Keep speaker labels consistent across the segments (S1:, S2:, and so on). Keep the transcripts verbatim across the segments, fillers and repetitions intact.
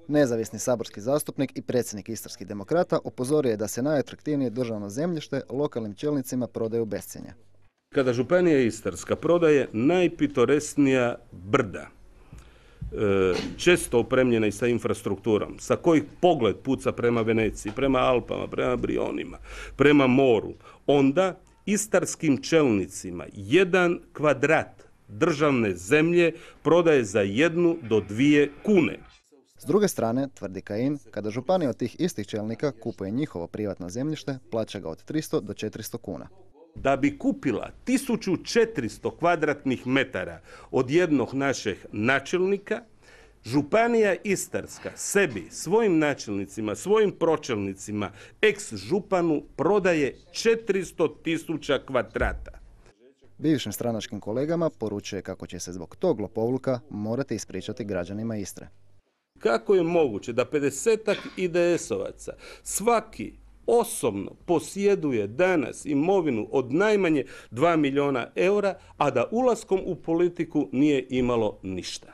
S1: Nezavisni saborski zastupnik i predsjednik Istarskih demokrata upozorio je da se najatraktivnije državno zemljište lokalnim čelnicima prodaje u bescjenje.
S2: Kada Županija Istarska prodaje najpitoresnija brda, često opremljena i sa infrastrukturom, sa kojih pogled puca prema Veneciji, prema Alpama, prema Brionima, prema moru, onda istarskim čelnicima jedan kvadrat državne zemlje prodaje za jednu do dvije kune.
S1: S druge strane, tvrdi Kajin, kada županija od tih istih čelnika kupuje njihovo privatno zemljište, plaća ga od tristo do četiristo kuna.
S2: Da bi kupila tisuću četiristo kvadratnih metara od jednog našeg načelnika, Županija Istarska sebi, svojim načelnicima, svojim pročelnicima, ex-županu prodaje četiristo tisuća kvadrata.
S1: Bivšim stranačkim kolegama poručuje kako će se zbog tog lopovluka morati ispričati građanima Istre.
S2: Kako je moguće da pedesetak I D S-ovaca svaki osobno posjeduje danas imovinu od najmanje dva milijuna eura, a da ulaskom u politiku nije imalo ništa?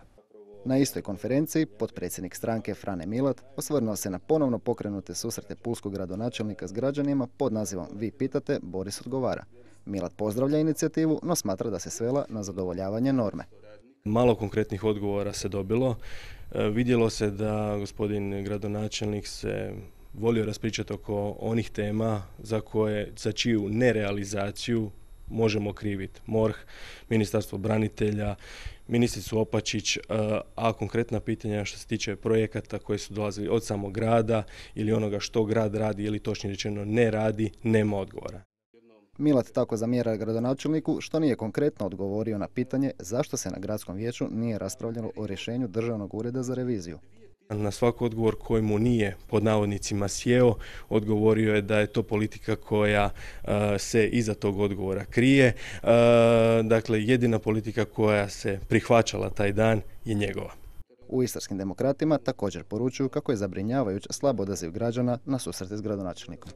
S1: Na istoj konferenciji potpredsjednik stranke Frane Milat osvrnuo se na ponovno pokrenute susrete pulskog gradonačelnika s građanima pod nazivom Vi pitate, Boris odgovara. Milat pozdravlja inicijativu, no smatra da se svela na zadovoljavanje norme.
S3: Malo konkretnih odgovora se dobilo. E, vidjelo se da gospodin gradonačelnik se volio raspričati oko onih tema za koje, za čiju nerealizaciju možemo kriviti MORH, Ministarstvo branitelja, ministricu Opačić, a konkretna pitanja što se tiče projekata koji su dolazili od samog grada ili onoga što grad radi ili točnije rečeno ne radi, nema odgovora.
S1: Milat tako zamjera gradonačelniku što nije konkretno odgovorio na pitanje zašto se na gradskom vijeću nije raspravljalo o rješenju Državnog ureda za reviziju.
S3: Na svaki odgovor koji mu nije pod navodnicima sjeo, odgovorio je da je to politika koja uh, se iza tog odgovora krije. Uh, dakle, jedina politika koja se prihvaćala taj dan je njegova.
S1: U Istarskim demokratima također poručuju kako je zabrinjavajuć slab odaziv građana na susrete s gradonačelnikom.